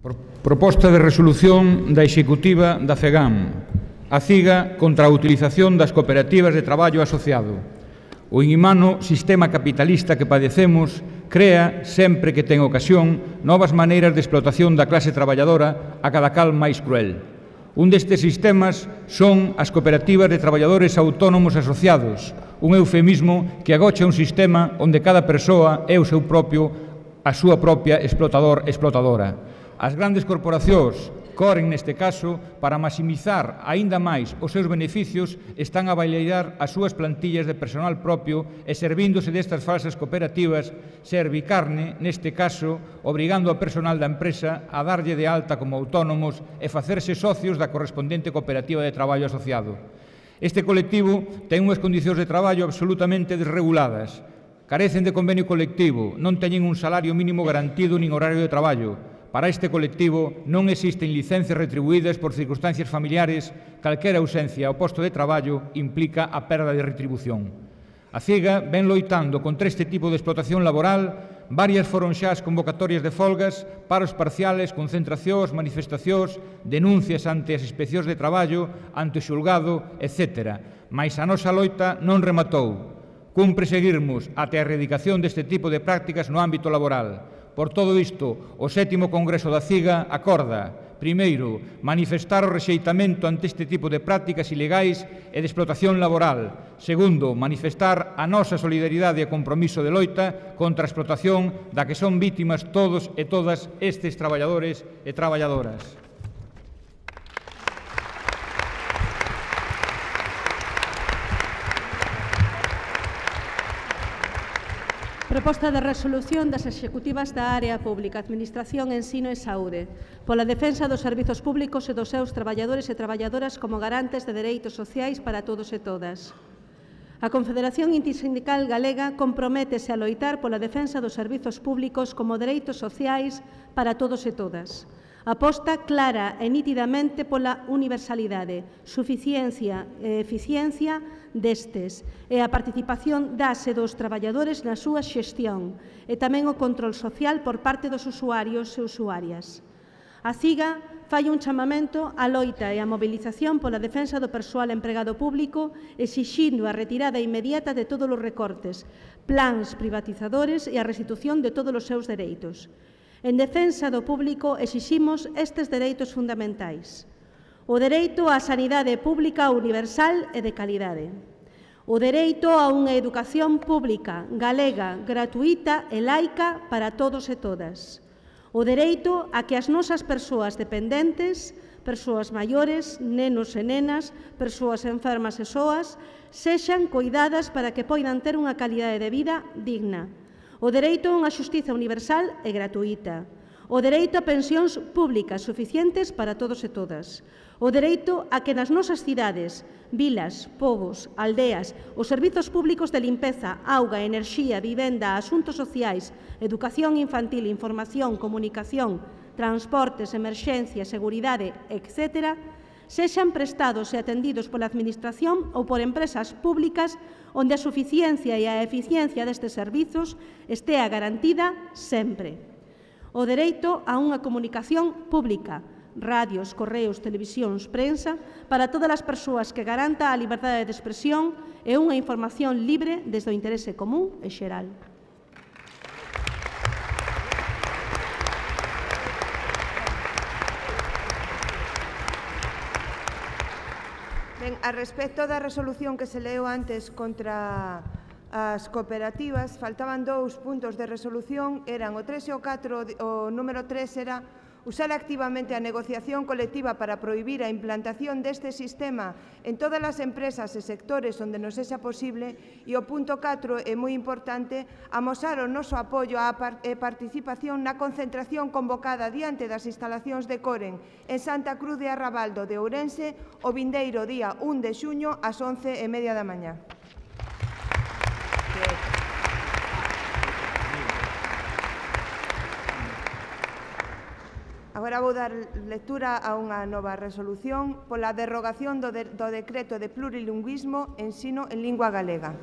Proposta de resolución da Executiva da FEGAM. A CIGA contra a utilización das cooperativas de traballo asociado. O inhumano sistema capitalista que padecemos crea, sempre que ten ocasión, novas maneiras de explotación da clase traballadora a cada cal máis cruel. Un destes sistemas son as cooperativas de traballadores autónomos asociados, un eufemismo que agocha un sistema onde cada persoa é a súa propia explotadora. As grandes corporacións corren neste caso para maximizar aínda máis os seus beneficios, están a bailar as súas plantillas de personal propio e servíndose destas falsas cooperativas servicarne, neste caso, obrigando ao personal da empresa a darlle de alta como autónomos e facerse socios da correspondente cooperativa de traballo asociado. Este colectivo ten unhas condicións de traballo absolutamente desreguladas, carecen de convenio colectivo, non teñen un salario mínimo garantido nin horario de traballo. Para este colectivo non existen licencias retribuídas por circunstancias familiares, calquera ausencia ao posto de traballo implica a perda de retribución. A CIGA ven loitando contra este tipo de explotación laboral, varias foron xa as convocatorias de folgas, paros parciales, concentracións, manifestacións, denuncias ante as inspeccións de traballo, ante o xulgado, etc. Mais a nosa loita non rematou. Cumpre seguirmos até a erradicación deste tipo de prácticas no ámbito laboral. Por todo isto, o 7º Congreso da CIGA acorda, primeiro, manifestar o rexeitamento ante este tipo de prácticas ilegais e de explotación laboral. Segundo, manifestar a nosa solidaridade e compromiso de loita contra a explotación da que son vítimas todos e todas estes traballadores e traballadoras. Proposta de resolución das executivas da Área Pública, Administración, Ensino e Saúde pola defensa dos servizos públicos e dos seus traballadores e traballadoras como garantes de dereitos sociais para todos e todas. A Confederación Intersindical Galega comprométese a loitar pola defensa dos servizos públicos como dereitos sociais para todos e todas. Aposta clara e nitidamente pola universalidade, suficiencia e eficiencia destes e a participación das e dos traballadores na súa xestión e tamén o control social por parte dos usuarios e usuarias. A CIGA fai un chamamento á loita e á mobilización pola defensa do persoal empregado público, exixindo a retirada inmediata de todos os recortes, plans privatizadores e a restitución de todos os seus dereitos. En defensa do público exiximos estes dereitos fundamentais. O dereito á sanidade pública universal e de calidade. O dereito a unha educación pública, galega, gratuíta e laica para todos e todas. O dereito a que as nosas persoas dependentes, persoas maiores, nenos e nenas, persoas enfermas e soas, sexan coidadas para que poidan ter unha calidade de vida digna. O dereito a unha xustiza universal e gratuíta. O dereito a pensións públicas suficientes para todos e todas. O dereito a que nas nosas cidades, vilas, pobos, aldeas, os servizos públicos de limpeza, auga, enerxía, vivenda, asuntos sociais, educación infantil, información, comunicación, transportes, emerxencia, seguridade, etc., sexan prestados e atendidos pola Administración ou por empresas públicas onde a suficiencia e a eficiencia destes servizos estea garantida sempre. O dereito a unha comunicación pública, radios, correos, televisións, prensa, para todas as persoas que garanta a liberdade de expresión e unha información libre desde o interese común e xeral. Ben, a respecto da resolución que se leu antes contra as cooperativas, faltaban dous puntos de resolución, eran o 3 e o 4, o número 3 era usar activamente a negociación colectiva para prohibir a implantación deste sistema en todas as empresas e sectores onde nos sexa posible, e o punto 4 é moi importante, amosar o noso apoio e participación na concentración convocada diante das instalacións de Coren en Santa Cruz de Arrabaldo de Ourense o vindeiro día 1 de xuño ás 11:30 da mañá. Agora vou dar lectura a unha nova resolución pola derrogación do decreto de plurilingüismo ensino en lingua galega.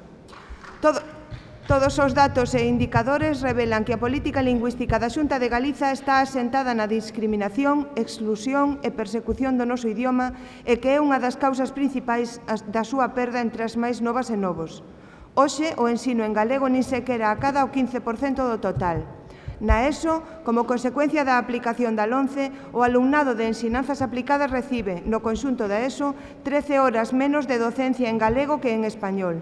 Todos os datos e indicadores revelan que a política lingüística da Xunta de Galiza está asentada na discriminación, exclusión e persecución do noso idioma e que é unha das causas principais da súa perda entre as máis novas e novos. Hoxe, o ensino en galego nin sequera acada o 15% do total. Na ESO, como consecuencia da aplicación da LOMCE, o alumnado de ensinanzas aplicadas recibe, no conxunto da ESO, 13 horas menos de docencia en galego que en español.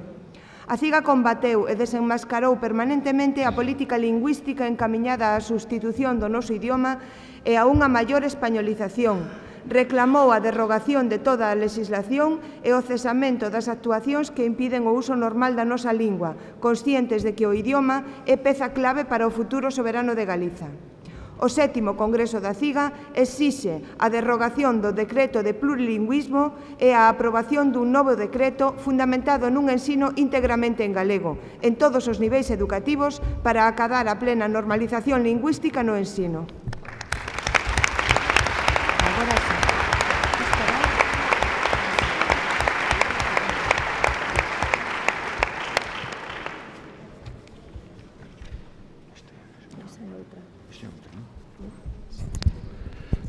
A CIGA combateu e desenmascarou permanentemente a política lingüística encamiñada á substitución do noso idioma e a unha maior españolización. Reclamou a derrogación de toda a legislación e o cesamento das actuacións que impiden o uso normal da nosa lingua, conscientes de que o idioma é peza clave para o futuro soberano de Galiza. O 7º Congreso da CIGA exixe a derrogación do decreto de plurilingüismo e a aprobación dun novo decreto fundamentado nun ensino íntegramente en galego, en todos os niveis educativos para acadar a plena normalización lingüística no ensino.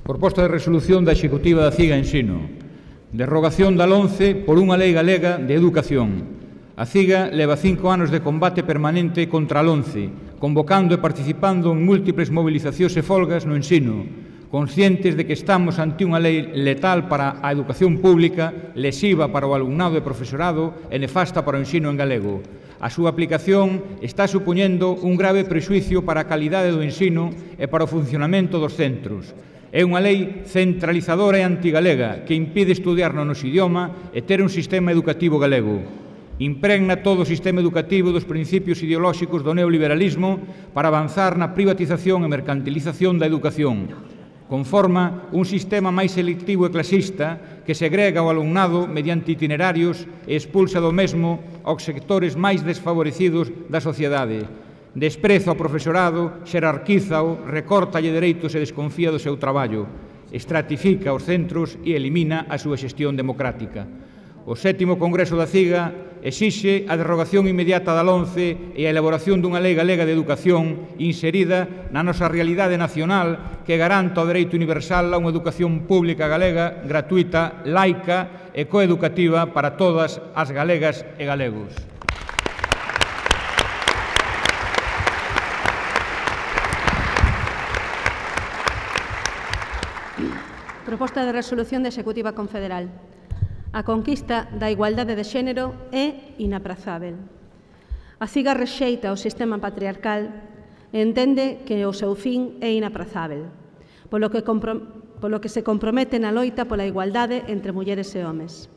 Proposta de resolución da Executiva da CIGA Ensino. Derrogación da LOMCE por unha lei galega de educación. A CIGA leva 5 anos de combate permanente contra a LOMCE, convocando e participando en múltiples movilizacións e folgas no ensino, conscientes de que estamos ante unha lei letal para a educación pública, lesiva para o alumnado e profesorado e nefasta para o ensino en galego. A súa aplicación está supoñendo un grave prexuicio para a calidade do ensino e para o funcionamento dos centros. É unha lei centralizadora e antigalega que impide estudiar no noso idioma e ter un sistema educativo galego. Impregna todo o sistema educativo dos principios ideolóxicos do neoliberalismo para avanzar na privatización e mercantilización da educación. Conforma un sistema máis selectivo e clasista que segrega o alumnado mediante itinerarios e expulsa do mesmo aos sectores máis desfavorecidos da sociedade. Despreza o profesorado, xerarquízao, recórtalle dereitos e desconfía do seu traballo, estratifica os centros e elimina a súa xestión democrática. O 7º Congreso da CIGA exixe a derrogación inmediata da LOMCE e a elaboración dunha lei galega de educación inserida na nosa realidade nacional que garanta o dereito universal a unha educación pública galega, gratuita, laica e coeducativa para todas as galegas e galegos. Proposta de resolución da Executiva Confederal. A conquista da igualdade de xénero é inaprazável. A CIGA rexeita o sistema patriarcal e entende que o seu fin é inaprazável, polo que se compromete na loita pola igualdade entre mulleres e homes.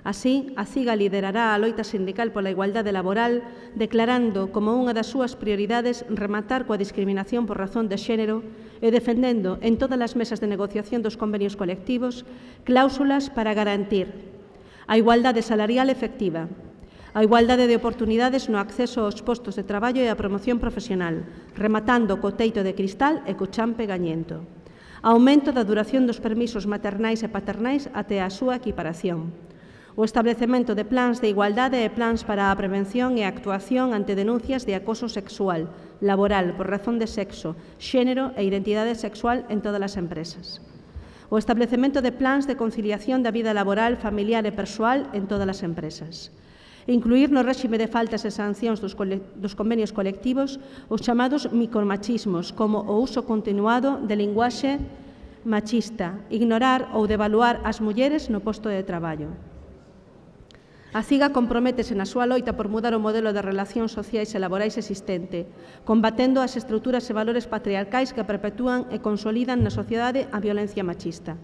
Así, a CIGA liderará a loita sindical pola igualdade laboral, declarando como unha das súas prioridades rematar coa discriminación por razón de xénero e defendendo en todas as mesas de negociación dos convenios colectivos cláusulas para garantir a igualdade salarial efectiva, a igualdade de oportunidades no acceso aos postos de traballo e a promoción profesional, rematando co teito de cristal e co champe gañento, aumento da duración dos permisos maternais e paternais até a súa equiparación, o establecemento de plans de igualdade e plans para a prevención e a actuación ante denuncias de acoso sexual, laboral, por razón de sexo, xénero e identidade sexual en todas as empresas. O establecemento de plans de conciliación da vida laboral, familiar e persoal en todas as empresas. Incluir no réxime de faltas e sancións dos convenios colectivos os chamados micromachismos, como o uso continuado de linguaxe machista, ignorar ou devaluar as mulleres no posto de traballo. A CIGA comprométese na súa loita por mudar o modelo de relacións sociais e laborais existente, combatendo as estruturas e valores patriarcais que perpetúan e consolidan na sociedade a violencia machista.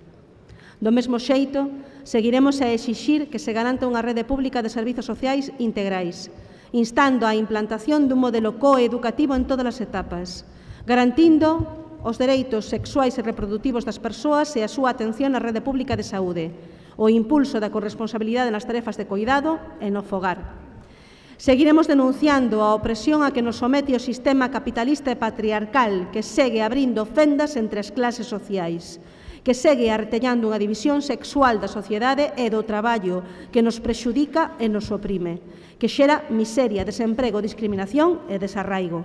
Do mesmo xeito, seguiremos a exixir que se garanta unha rede pública de servizos sociais integrais, instando a implantación dun modelo coeducativo en todas as etapas, garantindo os dereitos sexuais e reproductivos das persoas e a súa atención á rede pública de saúde, o impulso da corresponsabilidade nas tarefas de cuidado e no fogar. Seguiremos denunciando a opresión a que nos somete o sistema capitalista e patriarcal que segue abrindo fendas entre as clases sociais, que segue artellando unha división sexual da sociedade e do traballo que nos prexudica e nos oprime, que xera miseria, desemprego, discriminación e desarraigo.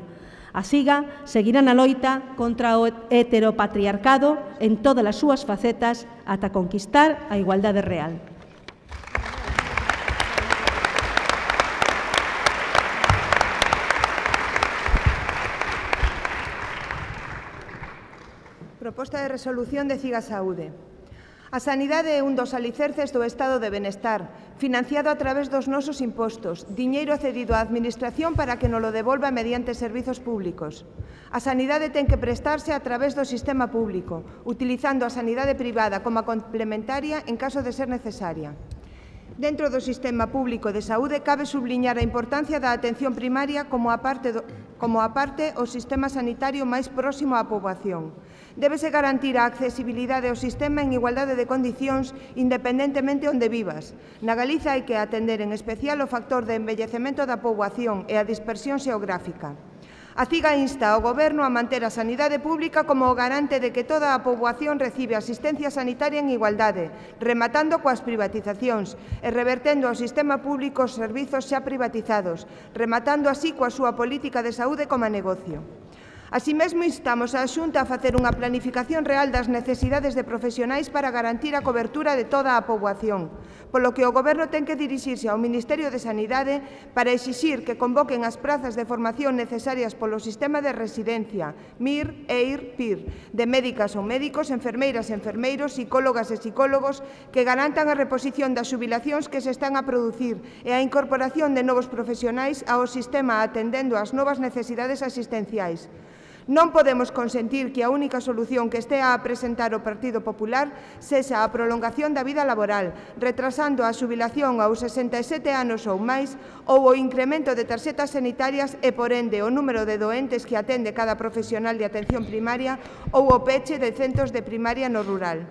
A CIGA seguirá na loita contra o heteropatriarcado en todas as súas facetas ata conquistar a igualdade real. Proposta de resolución de CIGA Saúde. A sanidade é un dos alicerces do estado de benestar, financiado a través dos nosos impostos, diñeiro cedido á Administración para que nolo devolva mediante servizos públicos. A sanidade ten que prestarse a través do sistema público, utilizando a sanidade privada como complementaria en caso de ser necesaria. Dentro do sistema público de saúde cabe subliñar a importancia da atención primaria como a parte o sistema sanitario máis próximo á poboación. Débese garantir a accesibilidade ao sistema en igualdade de condicións independentemente onde vivas. Na Galiza hai que atender en especial o factor de envellecemento da poboación e a dispersión xeográfica. A CIGA insta ao Goberno a manter a sanidade pública como o garante de que toda a poboación recibe asistencia sanitaria en igualdade, rematando coas privatizacións e revertendo ao sistema público os servizos xa privatizados, rematando así coa súa política de saúde como negocio. Así mesmo, instamos á Xunta a facer unha planificación real das necesidades de profesionais para garantir a cobertura de toda a poboación, polo que o Goberno ten que dirixirse ao Ministerio de Sanidade para exixir que convoquen as prazas de formación necesarias polo sistema de residencia, MIR, EIR, PIR, de médicas ou médicos, enfermeiras e enfermeiros, psicólogas e psicólogos, que garantan a reposición das xubilacións que se están a producir e a incorporación de novos profesionais ao sistema atendendo ás novas necesidades asistenciais. Non podemos consentir que a única solución que estea a presentar o Partido Popular sexa a prolongación da vida laboral, retrasando a xubilación aos 67 anos ou máis ou o incremento de tarxetas sanitarias e, por ende, o número de doentes que atende cada profesional de atención primaria ou o peche de centros de primaria no rural.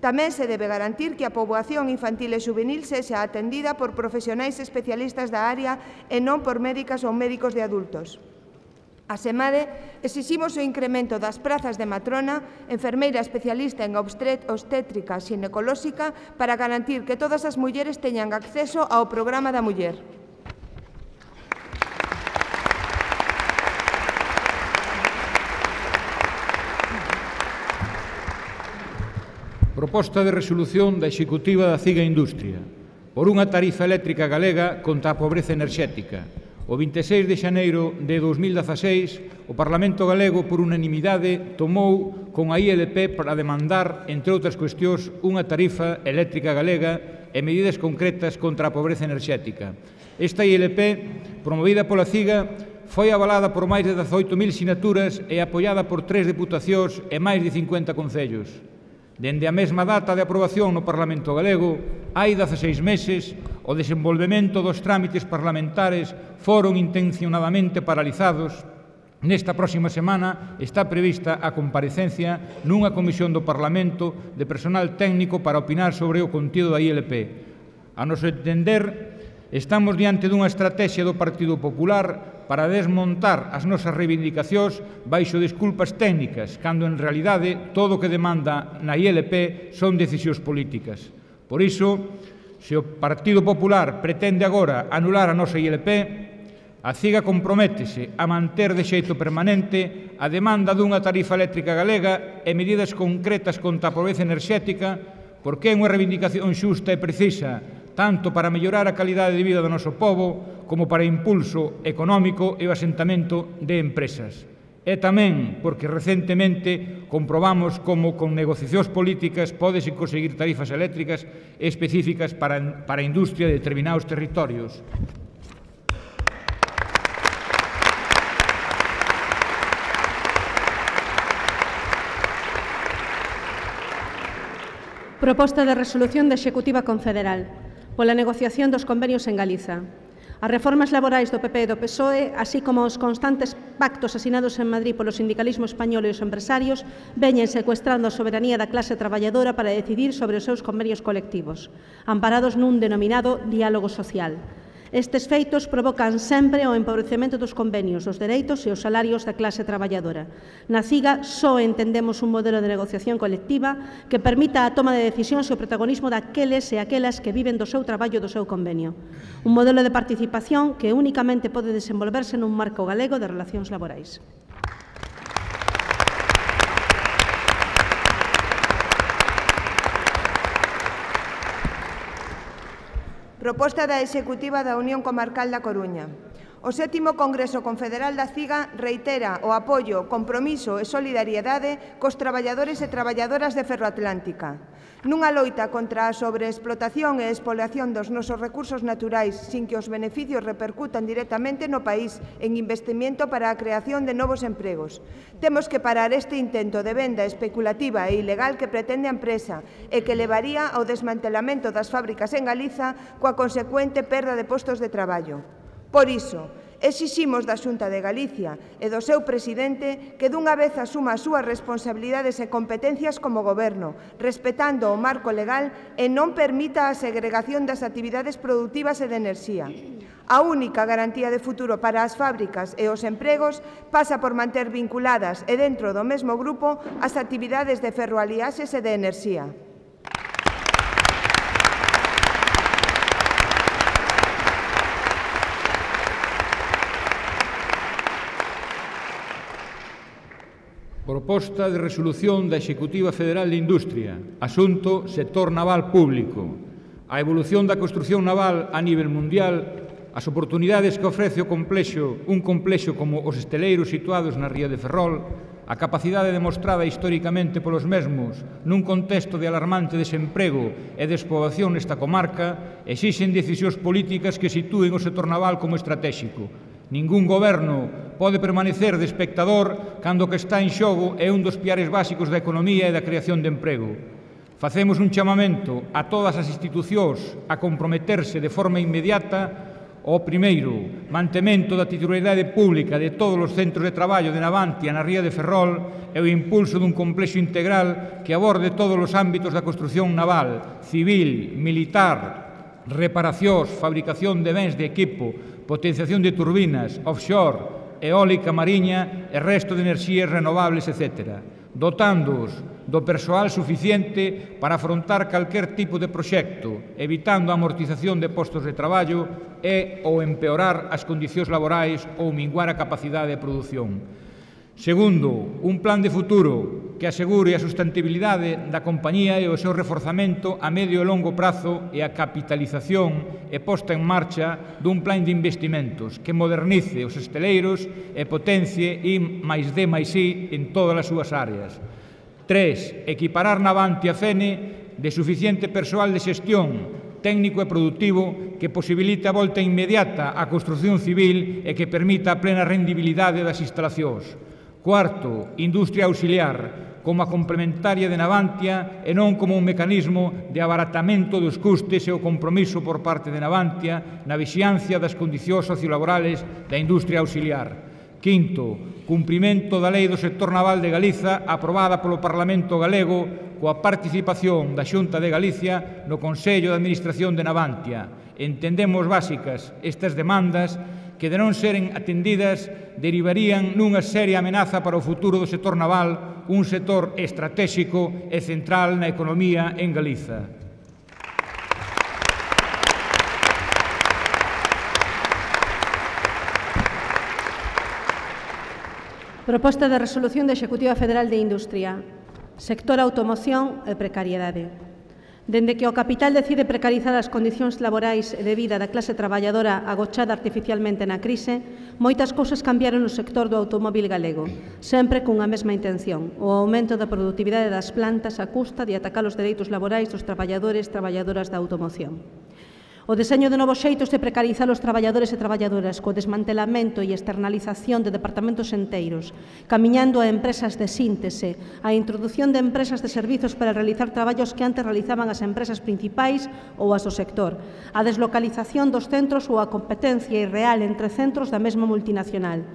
Tamén se debe garantir que a poboación infantil e xuvenil sexa atendida por profesionais especialistas da área e non por médicas ou médicos de adultos. Asemade, exiximos o incremento das prazas de matrona, enfermeira especialista en obstétrica xinecolóxica para garantir que todas as mulleres teñan acceso ao programa da muller. Proposta de resolución da Executiva da CIGA Industria por unha tarifa eléctrica galega contra a pobreza enerxética. O 26 de xaneiro de 2016, o Parlamento galego, por unanimidade, tomou con a ILP para demandar, entre outras cuestións, unha tarifa eléctrica galega e medidas concretas contra a pobreza enerxética. Esta ILP, promovida pola CIGA, foi avalada por máis de 18.000 sinaturas e apoiada por 3 deputacións e máis de 50 concellos. Dende a mesma data de aprobación no Parlamento galego, hai 16 meses, o desenvolvemento dos trámites parlamentares foron intencionadamente paralizados. Nesta próxima semana está prevista a comparecencia nunha comisión do Parlamento de personal técnico para opinar sobre o contido da ILP. A noso entender, estamos diante dunha estrategia do Partido Popular para desmontar as nosas reivindicacións baixo desculpas técnicas, cando en realidade todo o que demanda na ILP son decisións políticas. Por iso, se o Partido Popular pretende agora anular a nosa ILP, a CIGA comprométese a manter de xeito permanente a demanda dunha tarifa eléctrica galega e medidas concretas contra a pobreza enerxética, porque é unha reivindicación xusta e precisa tanto para mellorar a calidade de vida do noso pobo como para impulso económico e o asentamento de empresas. E tamén porque recentemente comprobamos como con negociacións políticas pódese conseguir tarifas eléctricas específicas para a industria de determinados territorios. Proposta de resolución da Executiva Confederal pola negociación dos convenios en Galiza. As reformas laborais do PP e do PSOE, así como os constantes pactos asinados en Madrid polo sindicalismo español e os empresarios, veñen secuestrando a soberanía da clase traballadora para decidir sobre os seus convenios colectivos, amparados nun denominado diálogo social. Estes feitos provocan sempre o empobrecemento dos convenios, os dereitos e os salarios da clase traballadora. Na CIGA só entendemos un modelo de negociación colectiva que permita a toma de decisións e o protagonismo daqueles e aquelas que viven do seu traballo e do seu convenio. Un modelo de participación que únicamente pode desenvolverse nun marco galego de relacións laborais. Proposta da Executiva da Unión Comarcal da Coruña. O 7º Congreso Confederal da CIGA reitera o apoio, compromiso e solidariedade cos traballadores e traballadoras de Ferroatlántica. Nunha loita contra a sobreexplotación e expoliación dos nosos recursos naturais sin que os beneficios repercutan directamente no país en investimento para a creación de novos empregos. Temos que parar este intento de venda especulativa e ilegal que pretende a empresa e que levaría ao desmantelamento das fábricas en Galiza coa consecuente perda de postos de traballo. Por iso, exiximos da Xunta de Galicia e do seu presidente que dunha vez asuma as súas responsabilidades e competencias como goberno, respetando o marco legal e non permita a segregación das actividades productivas e de enerxía. A única garantía de futuro para as fábricas e os empregos pasa por manter vinculadas e dentro do mesmo grupo as actividades de ferroaliaxes e de enerxía. Proposta de resolución da Executiva Federal de Industria. Asunto: sector naval público. A evolución da construción naval a nivel mundial, as oportunidades que ofrece un complexo como os esteleiros situados na ría de Ferrol, a capacidade demostrada históricamente polos mesmos nun contexto de alarmante desemprego e despoboación nesta comarca, exixen decisións políticas que sitúen o sector naval como estratéxico. Ningún goberno pode permanecer de espectador cando o que está en xogo é un dos piares básicos da economía e da creación de emprego. Facemos un chamamento a todas as institucións a comprometerse de forma inmediata ao primeiro, mantemento da titularidade pública de todos os centros de traballo de Navantia na ría de Ferrol e o impulso dun complexo integral que aborde todos os ámbitos da construción naval, civil, militar, reparacións, fabricación de bens de equipo, potenciación de turbinas, offshore, eólica mariña e resto de enerxías renovables, etc., dotándoos do persoal suficiente para afrontar calquer tipo de proxecto, evitando a amortización de postos de traballo e ou empeorar as condicións laborais ou minguar a capacidade de produción. Segundo, un plan de futuro que asegure a sustentabilidade da compañía e o seu reforzamento a medio e longo prazo e a capitalización e posta en marcha dun plan de investimentos que modernice os esteleiros e potencie I+D+I en todas as súas áreas. 3. Equiparar Navantia Fene de suficiente persoal de xestión técnico e productivo que posibilite a volta inmediata á construción civil e que permita a plena rendibilidade das instalacións. Cuarto, industria auxiliar, como a complementaria de Navantia e non como un mecanismo de abaratamento dos custes e o compromiso por parte de Navantia na vixiancia das condicións sociolaborales da industria auxiliar. Quinto, cumprimento da Lei do Sector Naval de Galiza aprobada polo Parlamento galego coa participación da Xunta de Galicia no Consello de Administración de Navantia. Entendemos básicas estas demandas que, de non seren atendidas, derivarían nunha seria amenaza para o futuro do sector naval, un sector estratéxico e central na economía en Galiza. Proposta de resolución da Executiva Federal de Industria. Sector automoción e precariedade. Dende que o capital decide precarizar as condicións laborais e de vida da clase traballadora agochada artificialmente na crise, moitas cousas cambiaron no sector do automóbil galego, sempre cunha mesma intención, o aumento da produtividade das plantas a custa de atacar os dereitos laborais dos traballadores e traballadoras da automoción. O deseño de novos xeitos de precarizar os traballadores e traballadoras co desmantelamento e externalización de departamentos enteiros, camiñando a empresas de síntese, a introdución de empresas de servizos para realizar traballos que antes realizaban as empresas principais ou as do sector, a deslocalización dos centros ou a competencia irreal entre centros da mesma multinacional,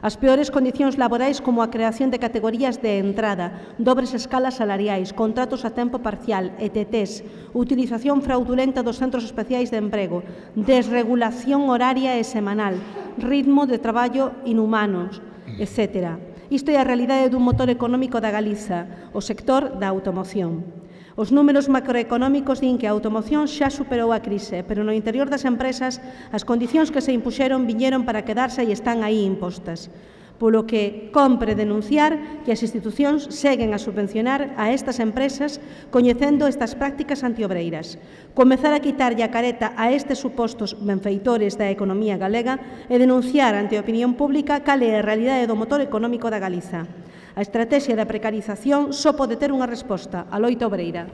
As peores condicións laborais como a creación de categorías de entrada, dobres escalas salariais, contratos a tempo parcial, ETTs, utilización fraudulenta dos centros especiais de emprego, desregulación horaria e semanal, ritmo de traballo inhumanos, etc. Isto é a realidade dun motor económico da Galiza, o sector da automoción. Os números macroeconómicos din que a automoción xa superou a crise, pero no interior das empresas as condicións que se impuxeron viñeron para quedarse e están aí impostas. Polo que compre denunciar que as institucións seguen a subvencionar a estas empresas coñecendo estas prácticas antiobreiras. Comezar a quitarlle a careta a estes supostos benfeitores da economía galega e denunciar ante a opinión pública cal é a realidade do motor económico da Galiza. A estrategia da precarización só pode ter unha resposta, a loita obreira.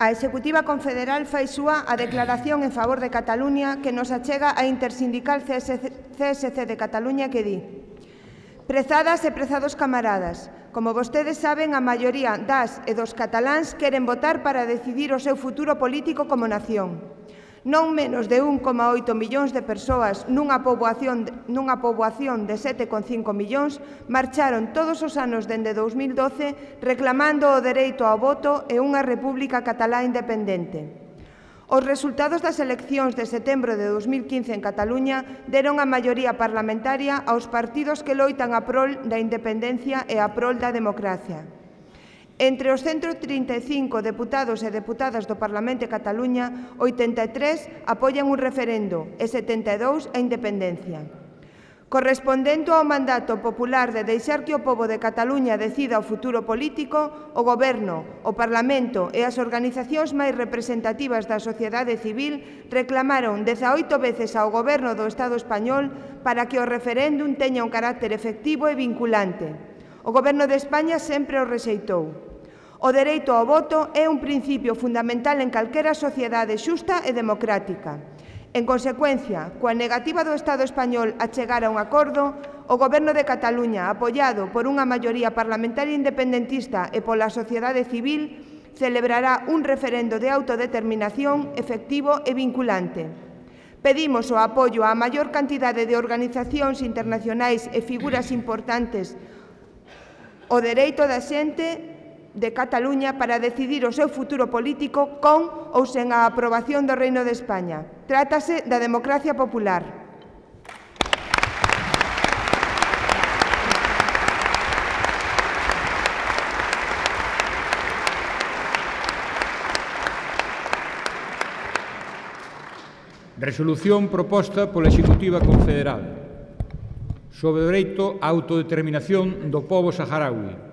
A Executiva Confederal fai súa a declaración en favor de Cataluña que nos achega a intersindical CSC de Cataluña que di: prezadas e prezados camaradas, como vostedes saben, a maioría das e dos cataláns queren votar para decidir o seu futuro político como nación. Non menos de 1,8 millóns de persoas nunha poboación de 7,5 millóns marcharon todos os anos dende 2012 reclamando o dereito ao voto e unha república catalá independente. Os resultados das eleccións de setembro de 2015 en Cataluña deron a maioría parlamentaria aos partidos que loitan a prol da independencia e a prol da democracia. Entre os 135 deputados e deputadas do Parlamento de Cataluña, 83 apoian un referendo e 72 a independencia. Correspondendo ao mandato popular de deixar que o pobo de Cataluña decida o futuro político, o Goberno, o Parlamento e as organizacións máis representativas da sociedade civil reclamaron 18 veces ao Goberno do Estado español para que o referéndum teña un carácter efectivo e vinculante. O Goberno de España sempre o rexeitou. O dereito ao voto é un principio fundamental en calquera sociedade xusta e democrática. En consecuencia, coa negativa do Estado español a chegar a un acordo, o Goberno de Cataluña, apoiado por unha maioría parlamentaria independentista e pola sociedade civil, celebrará un referendo de autodeterminación efectivo e vinculante. Pedimos o apoio á maior cantidade de organizacións internacionais e figuras importantes o dereito da xente de Cataluña para decidir o seu futuro político con ou sen a aprobación do Reino de España. Trátase da democracia popular. Resolución proposta pola Executiva Confederal sobre o dereito á autodeterminación do pobo saharaui.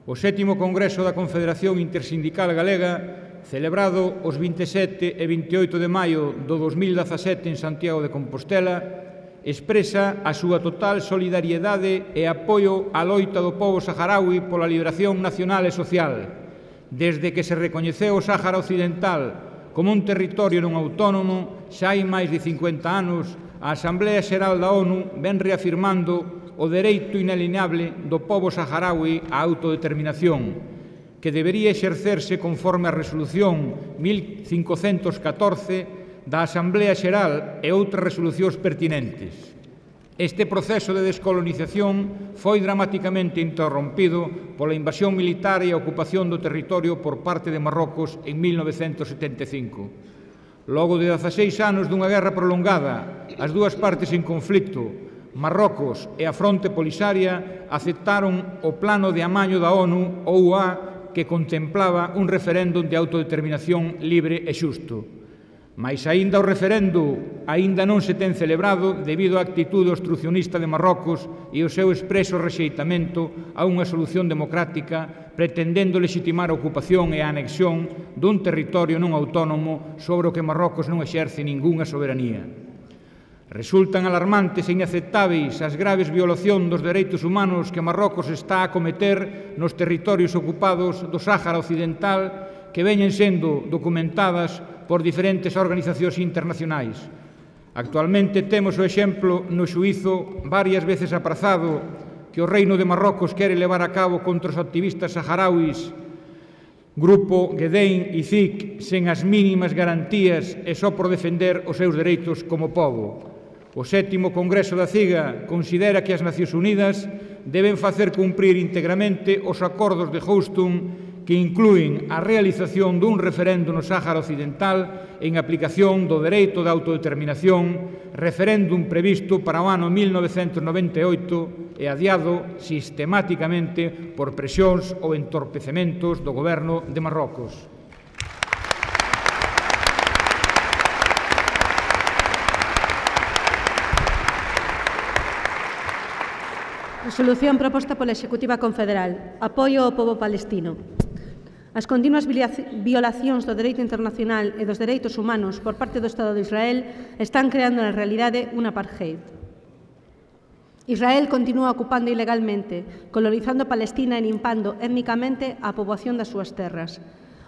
O 7º Congreso da Confederación Intersindical Galega, celebrado os 27 e 28 de maio do 2017 en Santiago de Compostela, expresa a súa total solidariedade e apoio á loita do pobo saharaui pola liberación nacional e social, desde que se recoñeceu o Sáhara Occidental como un territorio non autónomo xa hai máis de 50 anos. A Asamblea Xeral da ONU ven reafirmando o dereito inalienable do pobo saharaui á autodeterminación, que debería exercerse conforme a Resolución 1514 da Asamblea Xeral e outras resolucións pertinentes. Este proceso de descolonización foi dramaticamente interrompido pola invasión militar e a ocupación do territorio por parte de Marrocos en 1975. Logo de 16 anos dunha guerra prolongada, as dúas partes en conflito, Marrocos e a Fronte Polisaria, aceptaron o plano de amaño da ONU, OUA, que contemplaba un referéndum de autodeterminación libre e xusto. Mais aínda o referendo aínda non se ten celebrado debido á actitude obstrucionista de Marrocos e o seu expreso rexeitamento a unha solución democrática pretendendo lexitimar a ocupación e a anexión dun territorio non autónomo sobre o que Marrocos non exerce ningunha soberanía. Resultan alarmantes e inaceptáveis as graves violacións dos dereitos humanos que Marrocos está a cometer nos territorios ocupados do Sáhara Occidental que veñen sendo documentadas por diferentes organizacións internacionais. Actualmente temos o exemplo no xuízo varias veces aprazado que o Reino de Marrocos quere levar a cabo contra os activistas saharauis Grupo Gedein e CIC sen as mínimas garantías e só por defender os seus dereitos como pobo. O 7º Congreso da CIGA considera que as Nacións Unidas deben facer cumprir íntegramente os acordos de Houston que inclúen a realización dun referendo no Sáhara Occidental en aplicación do dereito de autodeterminación, referéndum previsto para o ano 1998 e adiado sistemáticamente por presións ou entorpecementos do goberno de Marrocos. Resolución proposta pola Executiva Confederal. Apoio ao pobo palestino. As continuas violacións do dereito internacional e dos dereitos humanos por parte do Estado de Israel están creando na realidade un apartheid. Israel continúa ocupando ilegalmente, colonizando Palestina e limpando étnicamente a poboación das súas terras.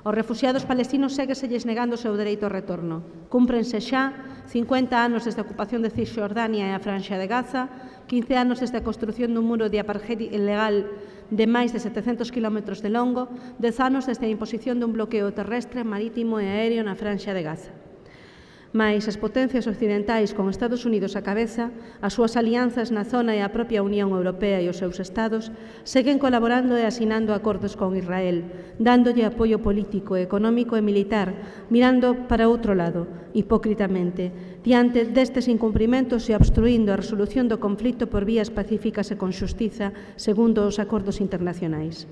Aos refuxiados palestinos ségueselles negando o seu dereito ao retorno. Cúmprense xa 50 anos desde a ocupación de Cisxordania e a Franxa de Gaza, 15 anos desde a construción dun muro de apartheid ilegal de máis de 700 km de longo, 10 anos desde a imposición dun bloqueo terrestre, marítimo e aéreo na Franxa de Gaza. Mais as potencias occidentais, con Estados Unidos á cabeza, as súas alianzas na zona e a propia Unión Europea e os seus estados, seguen colaborando e asinando acordos con Israel, dándolle apoio político, económico e militar, mirando para outro lado, hipócritamente, diante destes incumprimentos e obstruindo a resolución do conflito por vías pacíficas e con xustiza, segundo os acordos internacionais.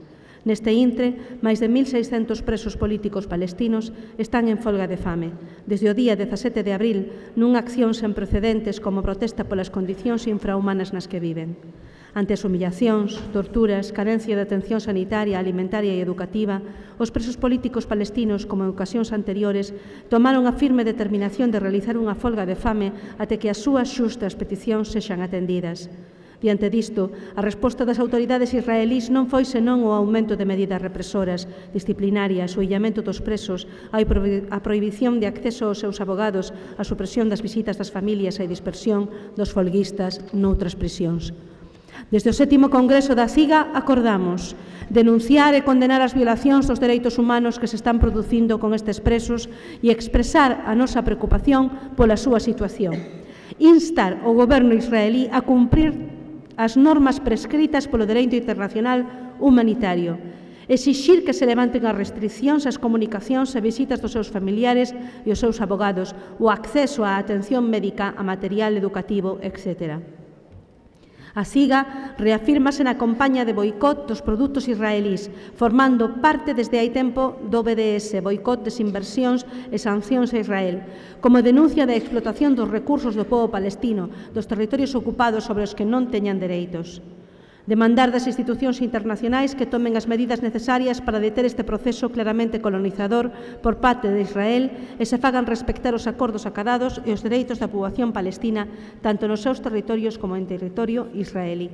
Neste intre, máis de 1.600 presos políticos palestinos están en folga de fame, desde o día 17 de abril, nunha acción sen precedentes como protesta polas condicións infrahumanas nas que viven. Ante as humillacións, torturas, carencia de atención sanitaria, alimentaria e educativa, os presos políticos palestinos, como en ocasións anteriores, tomaron a firme determinación de realizar unha folga de fame até que as súas xustas peticións sexan atendidas. Diante disto, a resposta das autoridades israelís non foi senón o aumento de medidas represoras, disciplinarias, o illamento dos presos, a prohibición de acceso aos seus abogados, a supresión das visitas das familias e a dispersión dos folguistas noutras prisións. Desde o 7º Congreso da CIGA acordamos denunciar e condenar as violacións dos dereitos humanos que se están producindo con estes presos e expresar a nosa preocupación pola súa situación. Instar o goberno israelí a cumprir as normas prescritas polo dereito internacional humanitario, exixir que se levanten as restriccións ás comunicacións e visitas dos seus familiares e os seus abogados, o acceso á atención médica, a material educativo, etc. A CIGA reafírmase na campaña de boicot dos produtos israelís, formando parte desde hai tempo do BDS, boicot, desinversións e sancións a Israel, como denuncia da explotación dos recursos do pobo palestino, dos territorios ocupados sobre os que non teñan dereitos. Demandar das institucións internacionais que tomen as medidas necesarias para deter este proceso claramente colonizador por parte de Israel e se fagan respectar os acordos acadados e os dereitos da poboación palestina tanto nos seus territorios como en territorio israelí.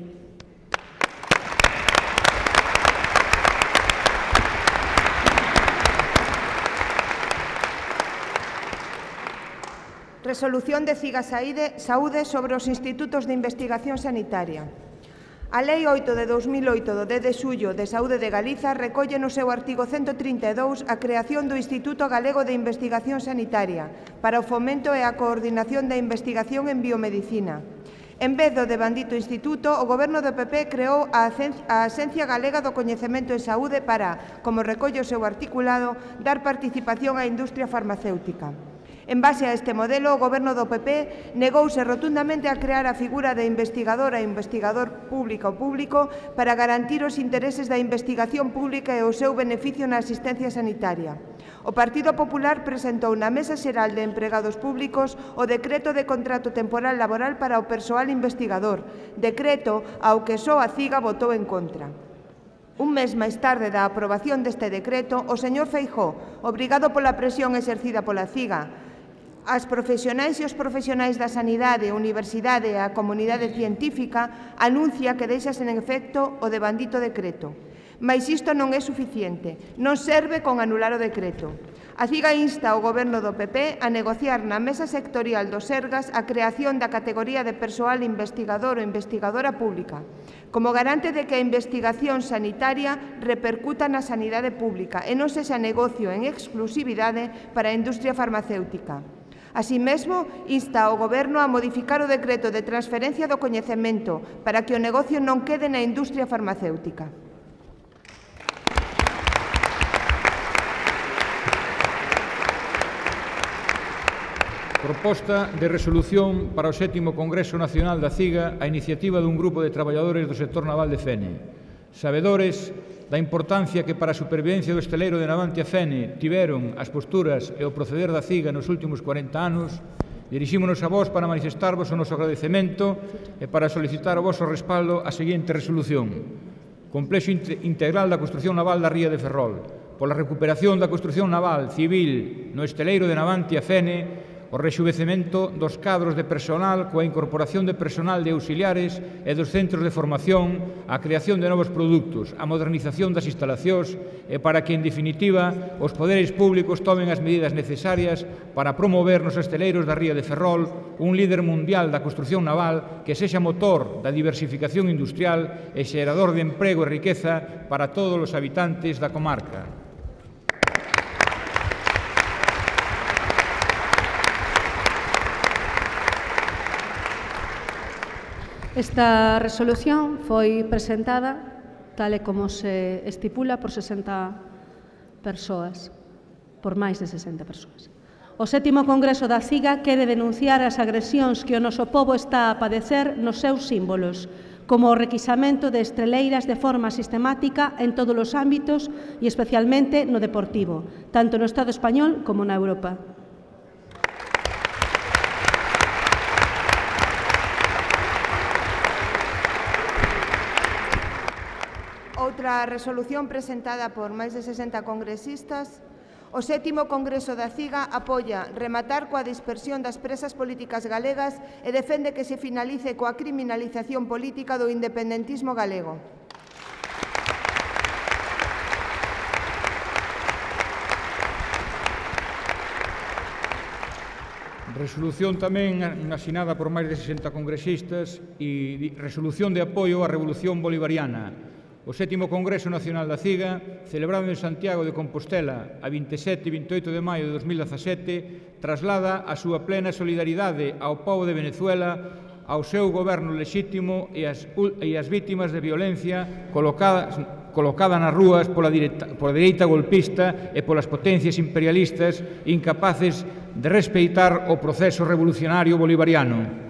Resolución de CIGA Saúde sobre os institutos de investigación sanitaria. A Lei 8 de 2008 do 10 de xullo de Saúde de Galiza recolle no seu artigo 132 a creación do Instituto Galego de Investigación Sanitaria para o fomento e a coordinación da investigación en biomedicina. En vez do devandito instituto, o Goberno do PP creou a Axencia Galega do Coñecemento en Saúde para, como recolle o seu articulado, dar participación á industria farmacéutica. En base a este modelo, o Goberno do PP negouse rotundamente a crear a figura de investigador e investigador público ou público para garantir os intereses da investigación pública e o seu beneficio na asistencia sanitaria. O Partido Popular presentou na Mesa Xeral de Empregados Públicos o Decreto de Contrato Temporal Laboral para o persoal investigador, decreto ao que só a CIGA votou en contra. Un mes máis tarde da aprobación deste decreto, o señor Feijóo, obrigado pola presión exercida pola CIGA, as profesionais e os profesionais da sanidade, a universidade e a comunidade científica anuncia que deixa sen efecto o devandito decreto. Mais isto non é suficiente, non serve con anular o decreto. A CIGA insta ao Goberno do PP a negociar na mesa sectorial do Sergas a creación da categoría de persoal investigador ou investigadora pública, como garante de que a investigación sanitaria repercuta na sanidade pública e non sexa negocio en exclusividade para a industria farmacéutica. Así mesmo, insta ao Goberno a modificar o decreto de transferencia do coñecemento para que o negocio non quede na industria farmacéutica. Proposta de resolución para o 7º Congreso Nacional da CIGA a iniciativa dun grupo de traballadores do sector naval de Fene. Sabedores da importancia que para a supervivencia do esteleiro de Navantia Fene tiveron as posturas e o proceder da CIGA nos últimos 40 anos, dirixímonos a vos para manifestarvos o noso agradecemento e para solicitar o voso respaldo a seguinte resolución. Complexo integral da construción naval da Ría de Ferrol, pola recuperación da construción naval civil no esteleiro de Navantia Fene, o rexuvecemento dos cadros de personal coa incorporación de personal de auxiliares e dos centros de formación, a creación de novos produtos, a modernización das instalacións e para que, en definitiva, os poderes públicos tomen as medidas necesarias para promover nos esteleiros da Ría de Ferrol un líder mundial da construción naval que sexa motor da diversificación industrial e xerador de emprego e riqueza para todos os habitantes da comarca. Esta resolución foi presentada, tal e como se estipula, por 60 persoas, por máis de 60 persoas. O 7º Congreso da CIGA quere denunciar as agresións que o noso pobo está a padecer nos seus símbolos, como o requisamento de estreleiras de forma sistemática en todos os ámbitos e especialmente no deportivo, tanto no Estado español como na Europa. Outra resolución presentada por máis de 60 congresistas. O 7º Congreso da CIGA apoia rematar coa dispersión das presas políticas galegas e defende que se finalice coa criminalización política do independentismo galego. Resolución tamén asinada por máis de 60 congresistas e resolución de apoio á Revolución Bolivariana. O 7º Congreso Nacional da CIGA, celebrado en Santiago de Compostela a 27 e 28 de maio de 2017, traslada a súa plena solidaridade ao pobo de Venezuela, ao seu goberno lexítimo e as vítimas de violencia colocada nas rúas pola dereita golpista e polas potencias imperialistas incapaces de respeitar o proceso revolucionario bolivariano.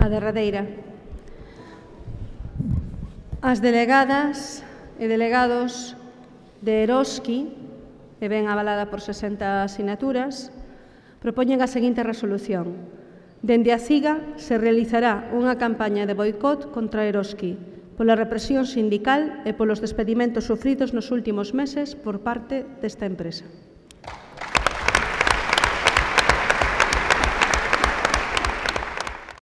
A derradeira. As delegadas e delegados de Eroski, e ben avalada por 60 sinaturas, propoñen a seguinte resolución. Dende a CIGA se realizará unha campaña de boicot contra Eroski pola represión sindical e polos despedimentos sufridos nos últimos meses por parte desta empresa.